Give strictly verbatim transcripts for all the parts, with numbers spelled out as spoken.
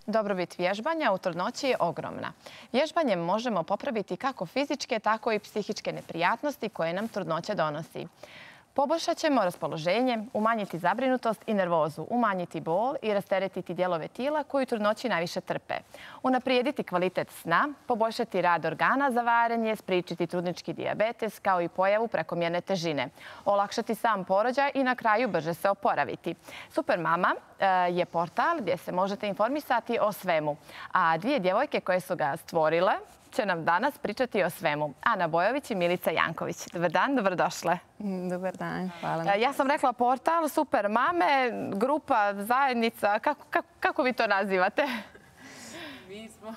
Dobrobit vježbanja u trudnoći je ogromna. Vježbanjem možemo popraviti kako fizičke, tako i psihičke neprijatnosti koje nam trudnoća donosi. Poboljšat ćemo raspoloženje, umanjiti zabrinutost i nervozu, umanjiti bol i rasteretiti dijelove tijela koji u trudnoći najviše trpe. Unaprijediti kvalitet sna, poboljšati rad organa za varenje, spriječiti trudnički dijabetes kao i pojavu prekomjerne težine, olakšati sam porođaj i na kraju brže se oporaviti. Supermama je portal gdje se možete informisati o svemu, a dvije djevojke koje su ga stvorile će nam danas pričati o svemu. Ana Bojović i Milica Janković. Dobar dan, dobrodošle. Dobar dan, hvala. Ja sam rekla portal, super mame, grupa, zajednica. Kako, kako, kako vi to nazivate? Mi smo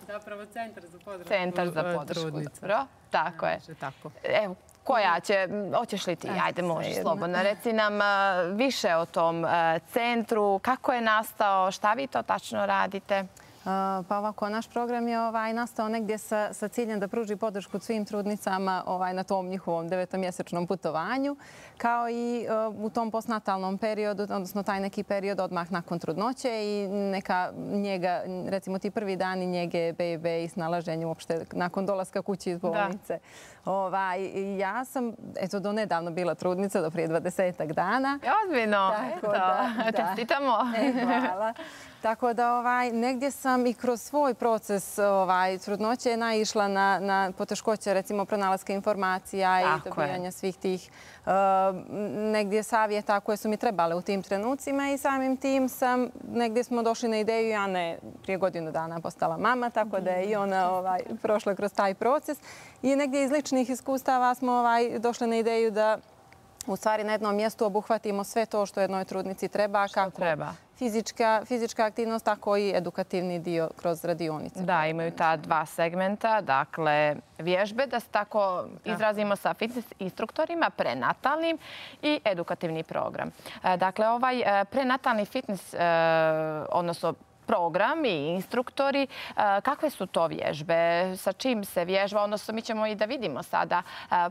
zapravo centar za podršku Centar za podršku, trudnica. dobro. Tako je. Tako. Evo, koja će, hoćeš li ti? Ajde, možeš slobodno. Reci nam više o tom centru, kako je nastao, šta vi to tačno radite? Pa ovako, naš program je ovaj, nastao negdje sa, sa ciljem da pruži podršku svim trudnicama ovaj, na tom njihovom devetomjesečnom putovanju, kao i uh, u tom postnatalnom periodu, odnosno taj neki period odmah nakon trudnoće i neka njega, recimo ti prvi dani njege bebe i snalaženju uopšte nakon dolaska kući iz bolnice. Ovaj, ja sam eto, do nedavno bila trudnica, do prije dvadesetak dana. Ozbiljno, eto, čestitamo. E, hvala. Tako da ovaj, negdje sam i kroz svoj proces ovaj, trudnoće naišla na, na poteškoće, recimo pronalaska informacija i dobijanja svih tih uh, negdje savjeta koje su mi trebale u tim trenucima i samim tim sam, negdje smo došli na ideju, ja ne prije godinu dana postala mama, tako da je i ona ovaj, prošla kroz taj proces i negdje iz ličnih iskustava smo ovaj, došli na ideju da u stvari na jednom mjestu obuhvatimo sve to što jednoj trudnici treba, kako treba. Fizička, fizička aktivnost, tako i edukativni dio kroz radionice. Da, imaju ta dva segmenta, dakle vježbe, da se tako izrazimo sa fitness instruktorima, prenatalnim i edukativni program. Dakle, ovaj prenatalni fitness, odnosno program i instruktori, kakve su to vježbe, sa čim se vježba, odnosno mi ćemo i da vidimo sada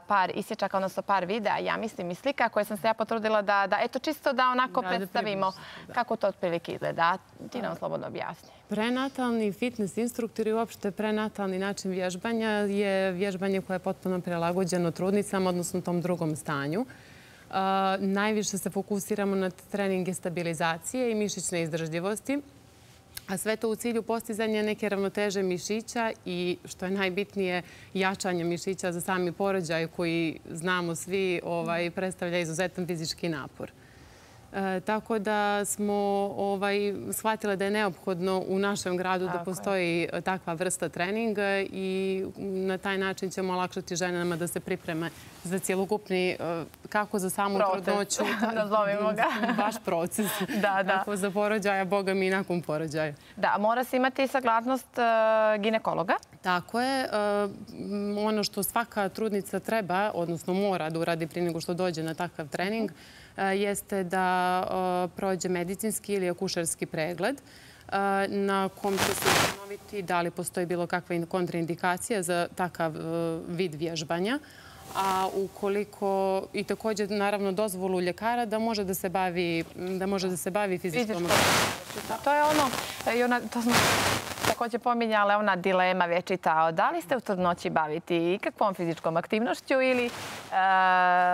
par isječaka, odnosno par videa, ja mislim i slika koje sam se ja potrudila da, da eto čisto da onako da, predstavimo da kako to otprilike izgleda. Ti nam slobodno objasni. Prenatalni fitness instruktor i uopšte prenatalni način vježbanja je vježbanje koje je potpuno prilagođeno trudnicama, odnosno tom drugom stanju. Uh, najviše se fokusiramo na treninge stabilizacije i mišićne izdržljivosti. A sve to u cilju postizanja neke ravnoteže mišića i, što je najbitnije, jačanje mišića za sami porođaj koji, znamo svi, ovaj, predstavlja izuzetan fizički napor. E, tako da smo ovaj, shvatile da je neophodno u našem gradu tako da postoji je. takva vrsta treninga i na taj način ćemo olakšati ženama da se pripreme za cjelokupni, kako za samu trudnoću, nazovimo ga. Baš proces. Da, da. Kako za porođaja, boga mi i nakon porođaja. Da, mora se imati saglasnost uh, ginekologa. Tako je. Uh, ono što svaka trudnica treba, odnosno mora da uradi prije nego što dođe na takav trening, jeste da prođe medicinski ili akušerski pregled na kom će se ustanoviti da li postoji bilo kakva kontraindikacija za takav vid vježbanja. A ukoliko i također naravno dozvolu ljekara da može da se bavi, da može da se bavi fizičkom aktivnošću. To je ono, i ona, to smo također pominjala, ona dilema vječita. Da li ste u trudnoći baviti ikakvom fizičkom aktivnošću ili e,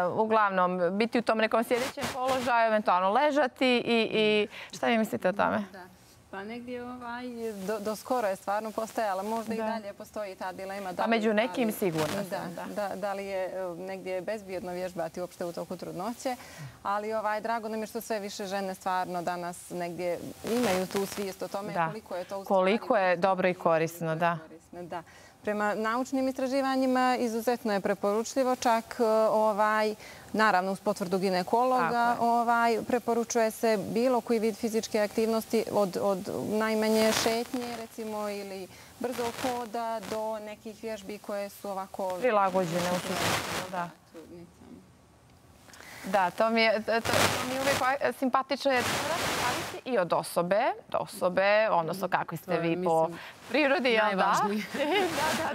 uglavnom biti u tom nekom sjedećem položaju, eventualno ležati i, i šta vi mislite o tome? Da. Pa negdje ovaj, do, do skoro je stvarno postojala. Možda da. i dalje postoji ta dilema. Da pa među li, nekim da li, sigurno da, sam, da. Da, da li je negdje bezbjedno vježbati uopšte u toku trudnoće. Ali ovaj, drago nam je što sve više žene stvarno danas negdje imaju tu svijest o tome da. koliko je to u koliko je dobro i korisno. Da. korisno da. Prema naučnim istraživanjima izuzetno je preporučljivo, čak ovaj, naravno uz potvrdu ginekologa ovaj, preporučuje se bilo koji vid fizičke aktivnosti od, od najmanje šetnje recimo ili brzog hoda do nekih vježbi koje su ovako prilagođene u suštini. Da. Da, to mi je, to, to mi je uvijek simpatično jer zavisi i od osobe do osobe, odnosno kakvi ste vi po prirodi, jel da?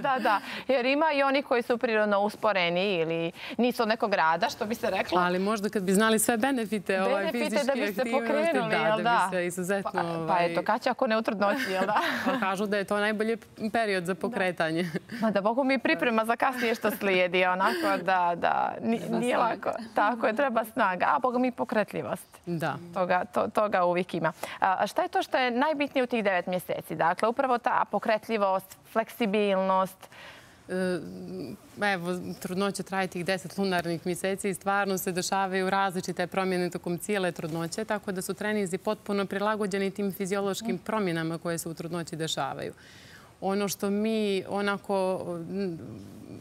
Da, da, da. Jer ima i oni koji su prirodno usporeni ili nisu od nekog rada, što bi se reklo. Ali možda kad bi znali sve benefite fizičke da bi se aktivnosti, pokrenuli, jel da? bi se izuzetno... Pa eto, kad će ako ne u trudnoći, jel da? Kažu da je to najbolji period za pokretanje. Ma da Bogu mi priprema za kasnije što slijedi, onako da nije lako. Tako je, treba snaga, a Boga mi pokretljivost. Da. Toga uvijek ima. A šta je to što je najbitnije u tih devet mjeseci? Dakle, upravo ta pokretljivost, fleksibilnost. Evo, trudnoća traje tih deset lunarnih mjeseci i stvarno se dešavaju različite promjene tokom cijele trudnoće, tako da su treninzi potpuno prilagođeni tim fiziološkim promjenama koje se u trudnoći dešavaju. Ono što mi onako,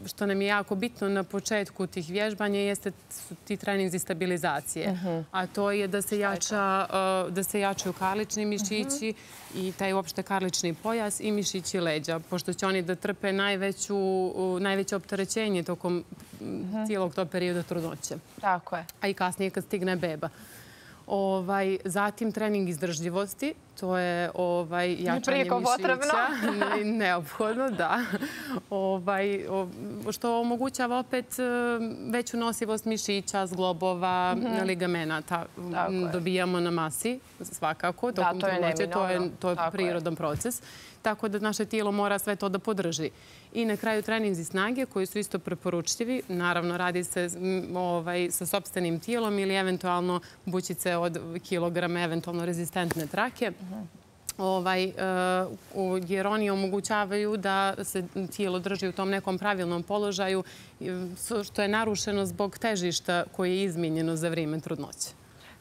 što nam je jako bitno na početku tih vježbanja jeste su ti treninzi stabilizacije. A to je da se jača, da se jačaju karlični mišići i taj uopšte karlični pojas i mišići leđa, pošto će oni da trpe najveće opterećenje tokom cijelog tog perioda trudnoće. Tako je. A i kasnije kad stigne beba. Zatim trening izdržljivosti, to je jačanje mišića. Neophodno, da. Što omogućava opet veću nosivost mišića, zglobova, ligamenata. Dobijamo na masi, svakako, tokom trudnoće. To je prirodan proces. Tako da naše tijelo mora sve to da podrži. I na kraju treninzi snage koji su isto preporučljivi. Naravno, radi se sa sopstvenim tijelom ili eventualno bućice od kilograma, eventualno rezistentne trake. Jer oni omogućavaju da se tijelo drži u tom nekom pravilnom položaju, što je narušeno zbog težišta koje je izmijenjeno za vrijeme trudnoće.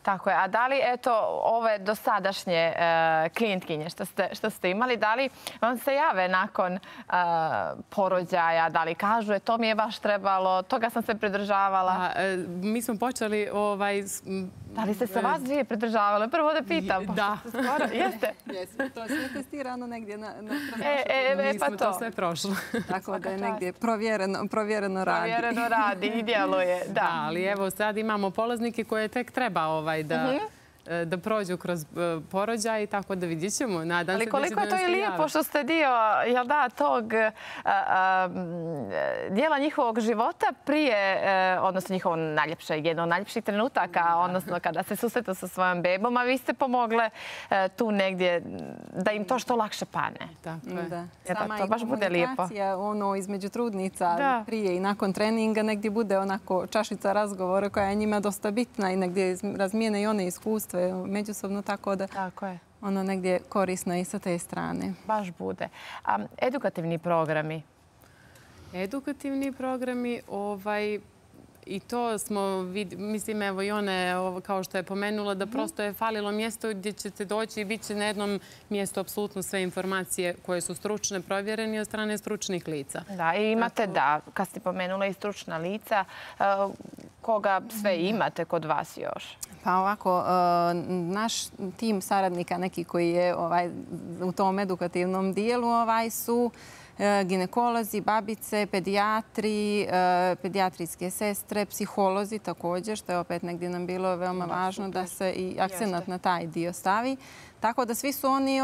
Tako je. A da li, eto, ove dosadašnje klijentkinje što ste imali, da li vam se jave nakon porođaja, da li kažu, e, to mi je baš trebalo, toga sam se pridržavala? Mi smo počeli... Da li ste se vas dvije pridržavale? Prvo da pitam. Da. Jeste? Jesmo. To je sve testirano negdje na E, mi smo to sve prošlo. Tako da je negdje provjereno radi. Provjereno radi i djeluje, da. Ali evo sad imamo polaznike koje tek treba da prođu kroz porođaj, tako da vidjet ćemo. Ali koliko je to i lijepo što ste dio, jel da, tog dijela njihovog života prije, odnosno njihovo najljepše, jedno od najljepših trenutaka, odnosno kada se susretu sa svojom bebom, a vi ste pomogle tu negdje da im to što lakše pane. Tako je. To baš bude lijepo. Sama i komunikacija između trudnica prije i nakon treninga negdje bude onako čašica razgovora koja je njima dosta bitna i negdje razmijene i one iskustva međusobno, tako da ono negdje korisno i sa te strane. Baš bude. A edukativni programi? Edukativni programi, i to smo, mislim, evo i one, kao što je pomenula, da prosto je falilo mjesto gdje ćete doći i bit će na jednom mjestu apsolutno sve informacije koje su stručne, provjerene od strane stručnih lica. Da, i imate, da, kad ste pomenula i stručna lica, koga sve imate kod vas još? Pa ovako, naš tim saradnika, neki koji je u tom edukativnom dijelu, su ginekolozi, babice, pedijatri, pedijatrijske sestre, psiholozi također, što je opet negdje nam bilo veoma važno da se i akcenat na taj dio stavi. Tako da svi su oni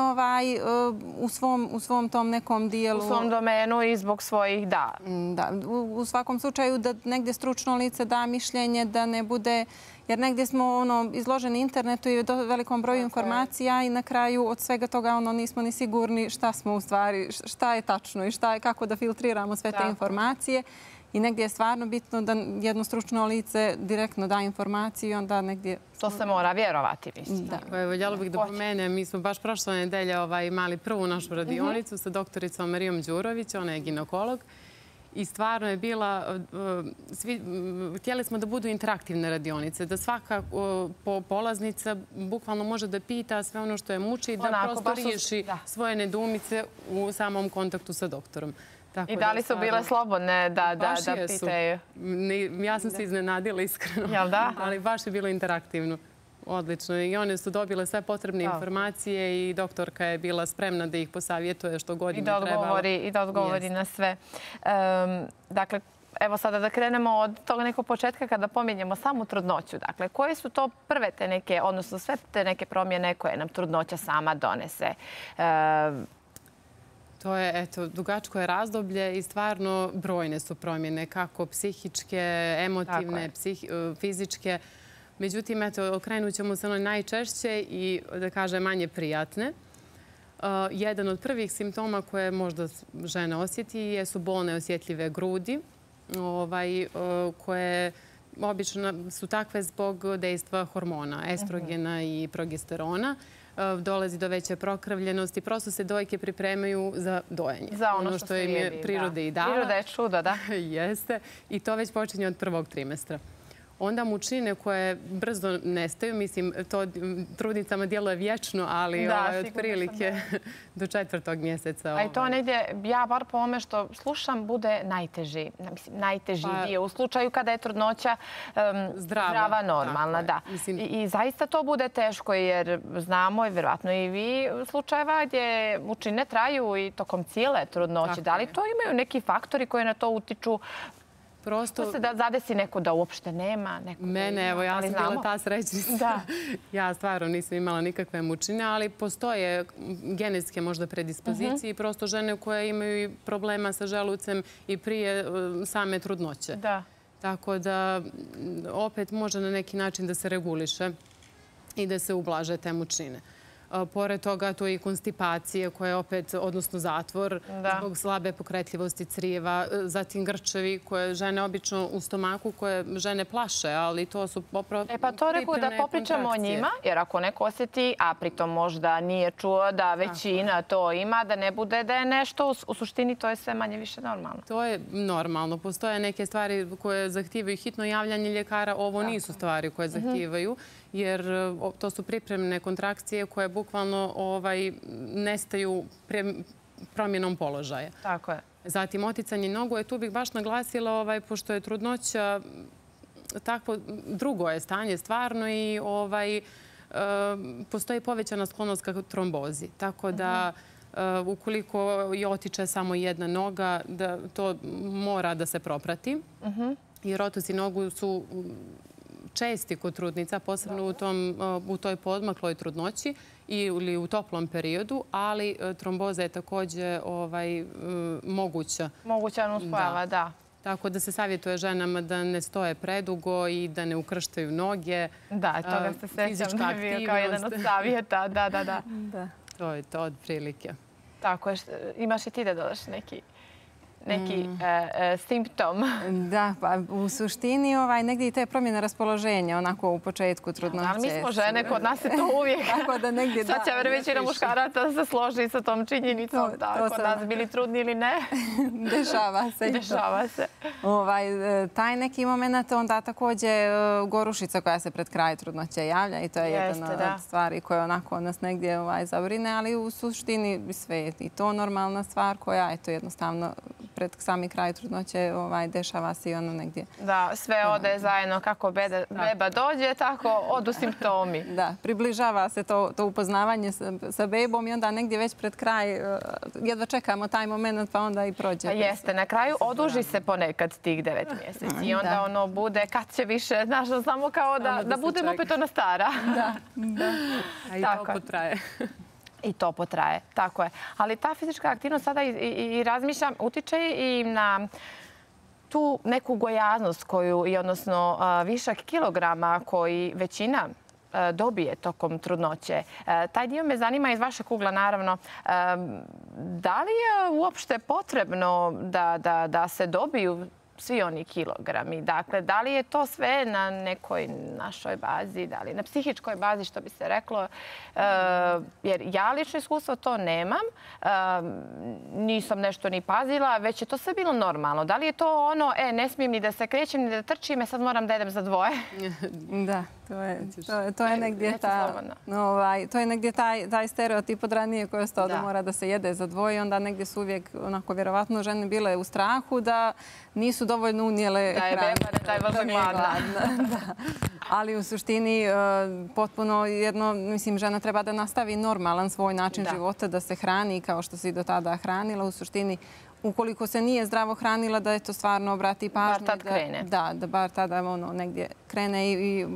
u svom tom nekom dijelu... U svom domenu i zbog svojih, da. Da, u svakom slučaju da negdje stručno lice da mišljenje, da ne bude... Jer negdje smo izloženi internetu i velikom broju informacija i na kraju od svega toga nismo ni sigurni šta smo u stvari, šta je tačno i kako da filtriramo sve te informacije. I negdje je stvarno bitno da jedno stručno lice direktno da informaciju i onda negdje... To se mora vjerovati, mislim. Voljela bih da pomenem, mi smo baš prošle nedelje imali prvu našu radionicu sa doktoricom Marijom Đurović, ona je ginekolog. I stvarno je bila, htjeli smo da budu interaktivne radionice, da svaka polaznica bukvalno može da pita sve ono što je muči i da prosto riješi svoje nedoumice u samom kontaktu sa doktorom. I da li su bile slobodne da pitaju? Ja sam se iznenadila iskreno. Jel da? Ali baš je bilo interaktivno. Odlično. I one su dobile sve potrebne informacije i doktorka je bila spremna da ih posavjetuje što god im je trebalo. I da odgovori na sve. Dakle, evo sada da krenemo od tog nekog početka kada pominjemo samu trudnoću. Dakle, koje su to prve te neke, odnosno sve te neke promjene koje nam trudnoća sama donese? To je, eto, dugačko je razdoblje i stvarno brojne su promjene, kako psihičke, emotivne, fizičke. Međutim, eto, okrenut ćemo se ono najčešće i, da kažem, manje prijatne. Jedan od prvih simptoma koje možda žena osjeti jesu bolne osjetljive grudi, koje obično su takve zbog dejstva hormona, estrogena i progesterona. Dolazi do veće prokrvljenosti. Prosto se dojke pripremaju za dojenje. Za ono što im je priroda i dala. Priroda je čudo, da. Jeste. I to već počinje od prvog trimestra. Onda mučine koje brzo nestaju, mislim, to trudnicama djeluje vječno, ali otprilike do četvrtog mjeseca. A i to negdje, ja bar po ome što slušam, bude najteži, mislim, najteži dio u slučaju kada je trudnoća zdrava, normalna. I zaista to bude teško jer znamo i vjerojatno i vi slučajeva gdje mučine traju i tokom cijele trudnoće. Da li to imaju neki faktori koji na to utiču? Prosto se da zadesi neko da uopšte nema. Mene, evo, ja sam bila ta srećnica. Ja stvarno nisam imala nikakve mučine, ali postoje genetske možda predispozicije i prosto žene koje imaju problema sa želucem i prije same trudnoće. Tako da opet može na neki način da se reguliše i da se ublaže te mučine. Pored toga, to je i konstipacija koja je opet, odnosno zatvor, zbog slabe pokretljivosti crijeva, zatim grčevi koje žene obično u stomaku, koje žene plaše, ali to su popravo pripremne kontrakcije. E pa to rekao da popričamo o njima, jer ako neko osjeti, a pritom možda nije čuo da većina to ima, da ne bude da je nešto, u suštini to je sve manje više normalno. To je normalno. Postoje neke stvari koje zahtijevaju hitno javljanje ljekara, ovo nisu stvari koje zahtijevaju, jer to su pripremne kontrakcije koje bukvalno nestaju promjenom položaja. Tako je. Zatim, oticanje nogu je, tu bih baš naglasila, pošto je trudnoća takvo drugo je stanje stvarno i postoji povećana sklonost ka trombozi. Tako da ukoliko je otiče samo jedna noga, to mora da se proprati. Jer otoci nogu su česti kod trudnica, posebno u toj podmakloj trudnoći ili u toplom periodu, ali tromboza je također moguća. Moguća nuspojava, da. Tako da se savjetuje ženama da ne stoje predugo i da ne ukrštaju noge. Da, toga se sećam da je bio kao jedan od savjeta. Da, da, da. To je to od prilike. Tako je. Imaš i ti da dodaš neki neki simptom. Da, pa u suštini negdje i te promjene raspoloženja, onako u početku trudnoće. Ali mi smo žene, kod nas je to uvijek. Tako da negdje da. Sad će većina muškaraca se složi sa tom činjenicom. Kod nas bili trudni ili ne. Dešava se. Dešava se. Taj neki moment, onda također gorušica koja se pred kraj trudnoće javlja i to je jedna od stvari koja onako nas negdje zabrine, ali u suštini sve je i to normalna stvar koja je to jednostavno pred sami kraj trudnoće dešava se i ono negdje. Da, sve ode zajedno kako beba dođe, tako odu simptomi. Da, približava se to upoznavanje sa bebom i onda negdje već pred kraj jedva čekamo taj moment pa onda i prođe. Jeste, na kraju oduži se ponekad tih devet mjeseci i onda ono bude kad će više, znaš, samo kao da budemo opet ona stara. Da, da. A i to potraje. I to potraje, tako je. Ali ta fizička aktivnost sada i razmišljam, utiče i na tu neku gojaznost koju, odnosno višak kilograma koji većina dobije tokom trudnoće. Taj dio me zanima iz vašeg ugla, naravno. Da li je uopšte potrebno da se dobiju svi oni kilogrami? Dakle, da li je to sve na nekoj našoj bazi, da li na psihičkoj bazi, što bi se reklo? Jer ja lično iskustvo to nemam. Nisam nešto ni pazila, već je to sve bilo normalno. Da li je to ono, e, ne smijem ni da se krećem, ni da trčim, e, sad moram da jedem za dvoje? Da. To je negdje to je negdje taj stereotip od ranije koji je ostao da mora da se jede za dvoje. Onda negdje su uvijek, onako, vjerovatno žene bile u strahu da nisu dovoljno unijele hranu. Da je beba, da je vrlo gladna. Ali u suštini potpuno jedno, mislim, žena treba da nastavi normalan svoj način života, da se hrani kao što se i do tada hranila. U suštini ukoliko se nije zdravo hranila, da je to stvarno obrati pažnju. Bar tad krene. Da, da bar tada negdje krene i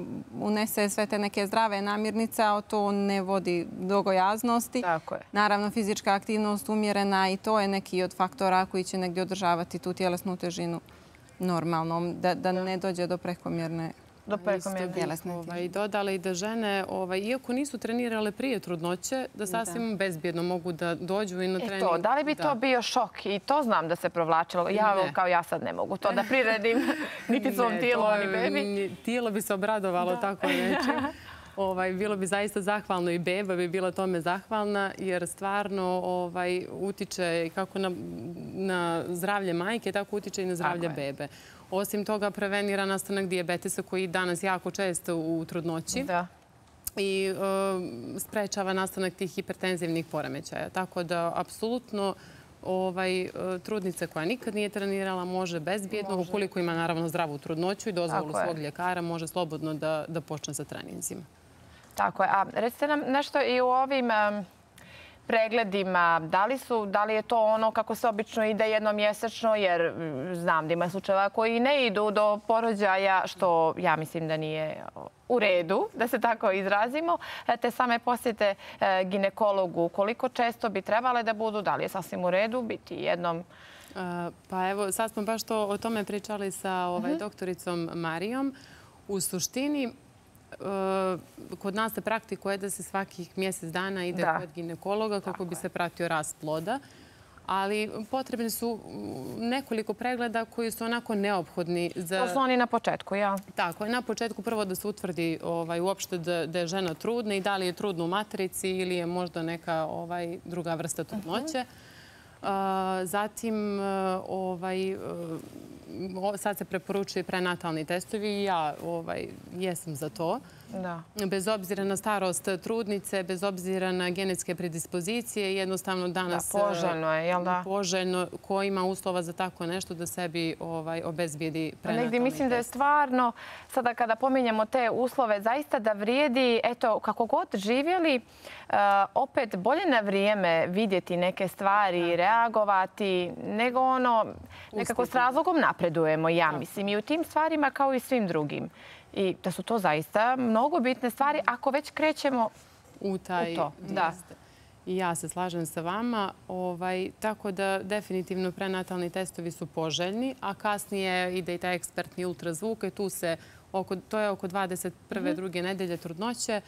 unese sve te neke zdrave namirnice, a to ne vodi do gojaznosti. Tako je. Naravno, fizička aktivnost umjerena i to je neki od faktora koji će negdje održavati tu tjelesnu težinu normalnom, da ne dođe do prekomjerne do prekomjerne tjelesne težine. Dodala i da žene, iako nisu trenirale prije trudnoće, da sasvim bezbjedno mogu da dođu i na trening. E to, da li bi to bio šok? I to znam da se provlačilo. Ja kao ja sad ne mogu to da priredim niti svom tijelu, ni bebi. Tijelo bi se obradovalo tako nečim. Bilo bi zaista zahvalno i beba bi bila tome zahvalna, jer stvarno utiče kako na zdravlje majke, tako utiče i na zdravlje bebe. Osim toga, prevenira nastanak dijabetesa koji je danas jako često u trudnoći i sprečava nastanak tih hipertenzivnih poremećaja. Tako da, apsolutno, trudnica koja nikad nije trenirala može bezbjedno, ukoliko ima naravno zdravu trudnoću i dozvolu svog ljekara, može slobodno da počne sa treninzima. Tako je. A recite nam nešto i u ovim pregledima, da li je to ono kako se obično ide jednomjesečno, jer znam da ima slučajeva koji ne idu do porođaja, što ja mislim da nije u redu, da se tako izrazimo, te same posjete ginekologu. Koliko često bi trebale da budu, da li je sasvim u redu biti jednom? Pa evo, sad smo baš to o tome pričali sa doktoricom Marijom. U suštini, kod nas se praktikuje da se svakih mjesec dana ide kod ginekologa kako bi se pratio rast ploda, ali potrebni su nekoliko pregleda koji su onako neophodni. To su oni na početku, ja? Tako je. Na početku prvo da se utvrdi uopšte da je žena trudna i da li je trudna u materici ili je možda neka druga vrsta trudnoće. Zatim, sad se preporučuje prenatalni testovi i ja jesam za to. Bez obzira na starost trudnice, bez obzira na genetske predispozicije, jednostavno danas poželjno je, jel da? Poželjno, ko ima uslova za tako nešto da sebi obezbijedi prenatalni test. Negdje mislim da je stvarno, sada kada pominjemo te uslove, zaista da vrijedi, eto, kako god živjeli, opet bolje na vrijeme vidjeti neke stvari i reagovati, nego ono, nekako s razlogom napredujemo, ja mislim, i u tim stvarima kao i svim drugim. I da su to zaista mnogo bitne stvari ako već krećemo u to. I ja se slažem sa vama. Tako da definitivno prenatalni testovi su poželjni, a kasnije ide i taj ekspertni ultrazvuk. To je oko dvadeset prve druge nedelje trudnoće,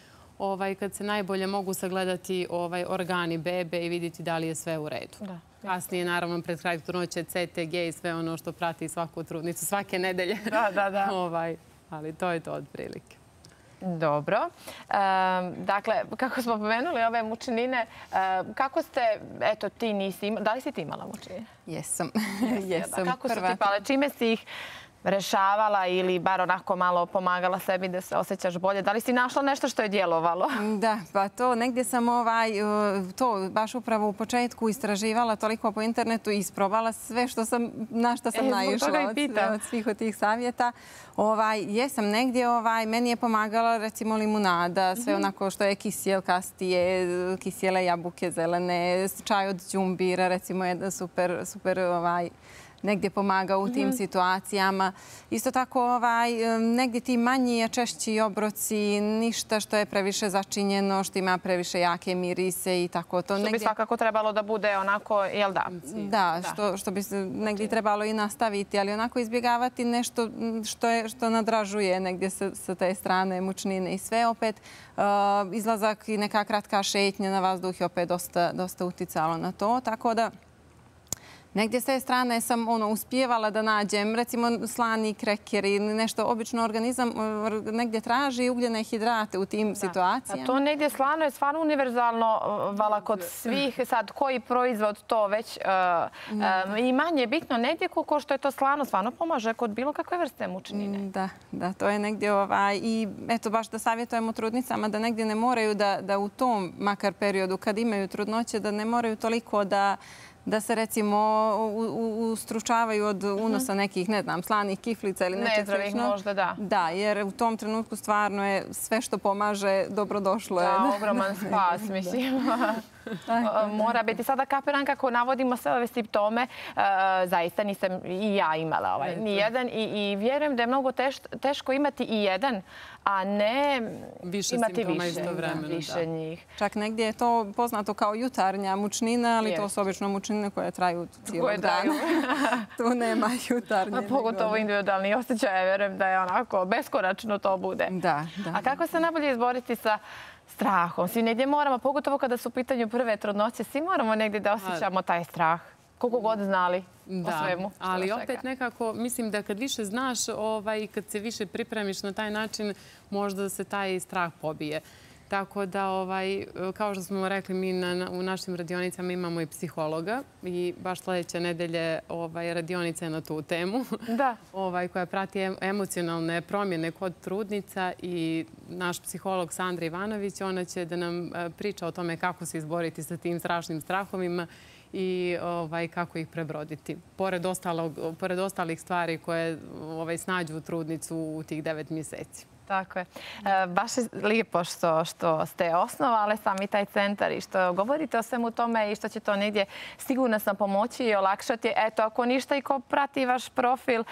kad se najbolje mogu sagledati organi bebe i vidjeti da li je sve u redu. Kasnije, naravno, pred kraj trudnoće C T G i sve ono što prati svaku trudnicu svake nedelje. Da, da, da. Ali to je to otprilike. Dobro. Dakle, kako smo pomenuli ove mučnine, kako ste, eto, ti nisi imala, da li si ti imala mučnine? Jesam. Kako su ti pale? Čime si ih rešavala ili bar onako malo pomagala sebi da se osjećaš bolje? Da li si našla nešto što je djelovalo? Da, pa to negdje sam to baš upravo u početku istraživala toliko po internetu i isprobala sve na što sam naišla od svih od tih savjeta. Jesam negdje, meni je pomagala recimo limunada, sve onako što je kisjelkastije, kisjele jabuke zelene, čaj od đumbira, recimo je super, super negdje pomaga u tim situacijama. Isto tako, negdje ti manji, češći obroci, ništa što je previše začinjeno, što ima previše jake mirise i tako to. Što bi svakako trebalo da bude onako, jel da? Da, što bi negdje trebalo i nastaviti, ali onako izbjegavati nešto što nadražuje negdje sa te strane mučnine i sve. Opet, izlazak i neka kratka šetnja na vazduh je opet dosta uticalo na to, tako da negdje s te strane sam uspijevala da nađem, recimo slani kreker ili nešto. Obično organizam negdje traži ugljene hidrate u tim situacijama. A to negdje slano je stvarno univerzalno vala kod svih. Sad, koji proizvod to već i manje bitno negdje koliko što je to slano stvarno pomaže kod bilo kakve vrste mučnine. Da, da, to je negdje i eto baš da savjetujemo trudnicama da negdje ne moraju da u tom makar periodu kad imaju trudnoće da ne moraju toliko da da se recimo ustručavaju od unosa nekih, ne znam, slanih kiflica ili nečeg slično. Nezdravih možda, da. Da, jer u tom trenutku stvarno je sve što pomaže dobrodošlo. Da, ogroman spas, mislim. Mora biti. Sada kapiram kako navodimo sve ove simptome. Zaista nisam i ja imala nijedan i vjerujem da je mnogo teško imati i jedan, a ne imati više njih. Čak negdje je to poznato kao jutarnja mučnina, ali to su obično mučnine koje traju cijelo dana. Tu nema jutarnje. Pogotovo individualni osjećaj, vjerujem da je onako beskonačno to bude. Da, da. A kako se najbolje izboriti sa strahom? Svi negdje moramo, pogotovo kada su u pitanju prve trudnoće, svi moramo negdje da osjećamo taj strah. Koliko god znali o svemu. Ali opet nekako, mislim da kad više znaš i kad se više pripremiš na taj način, možda se taj strah pobije. Tako da, kao što smo rekli, mi u našim radionicama imamo i psihologa i baš sljedeće nedelje radionica je na tu temu koja prati emocionalne promjene kod trudnica i naš psiholog Sandra Ivanović, ona će da nam priča o tome kako se izboriti sa tim strašnim strahovima i kako ih prebroditi. Pored ostalih stvari koje snađu trudnicu u tih devet mjeseci. Tako je. Baš je lijepo što ste osnovali sami taj centar i što govorite o svemu tome i što će to negdje sigurno sam pomoći i olakšati. Eto, ako ništa i ko prati vaš profil,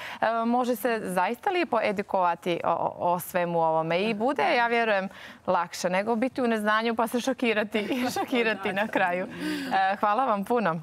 može se zaista lijepo edukovati o svemu ovome i bude, ja vjerujem, lakše nego biti u neznanju pa se šokirati na kraju. Hvala vam puno.